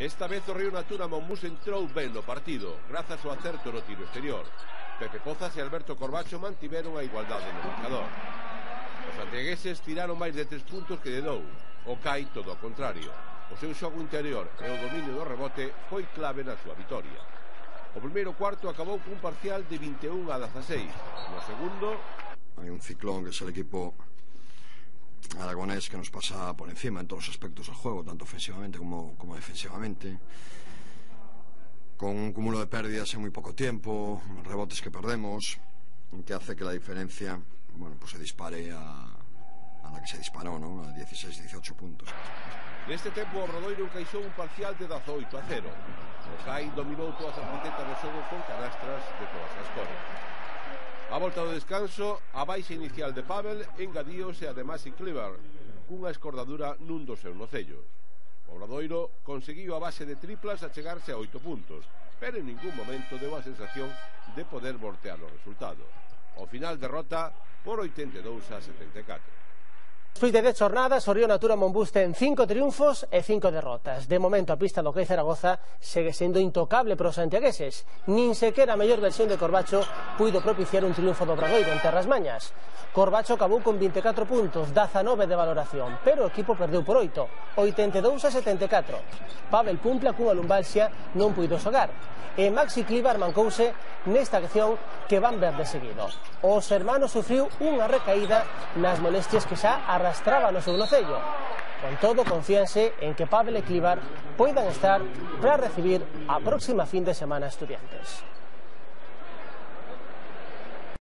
Esta vez o Río Natura Monbús entrou ben no partido, grazas ao acerto no tiro exterior. Pepe Pozas e Alberto Corbacho mantiveron a igualdade no marcador. Os santiagueses tiraron máis de 3 puntos que de 2, o CAI todo ao contrario. O seu xogo interior e o dominio do rebote foi clave na súa vitoria. O primeiro cuarto acabou cun parcial de 21-16. No segundo... Hay un ciclón que es el equipo aragonés que nos pasa por encima en todos los aspectos del juego, tanto ofensivamente como defensivamente, con un cúmulo de pérdidas en muy poco tiempo, rebotes que perdemos, que hace que la diferencia, bueno, pues se dispare a la que se disparó, ¿no? A 16-18 puntos. Neste tempo o Obradoiro encaixou un parcial de 18-0. O CAI dominou todas as facetas do xogo con canastras de todas as cores. A volta do descanso, a baixa inicial de Pavel engadíose a de Maxi Kleber cunha escordadura nun dos seus nocellos. O Obradoiro conseguiu a base de triplas a chegarse a 8 puntos, pero en ningún momento deu a sensación de poder voltear o resultado. Ao final derrota por 82-74. Despois de 10 jornadas, o Río Natura Monbús ten 5 triunfos e 5 derrotas. De momento a pista do CAI Zaragoza segue sendo intocable para os santiagueses. Nin sequera a mellor versión de Corbacho puido propiciar un triunfo do Obradoiro en terras mañas. Corbacho acabou con 24 puntos, 19 de valoración, pero o equipo perdeu por 8, 82-74. Pavel Pumpla cunha lumbalxia non puido xogar, e Maxi Kleber mancouse nesta acción que van ver de seguido. Os hermanos sufriu unha recaída nas molestias que xa arrastraba no seu nocello. Con todo, confíanse en que Pavel e Kleber poidan estar para recibir a próxima fin de semana a Estudiantes.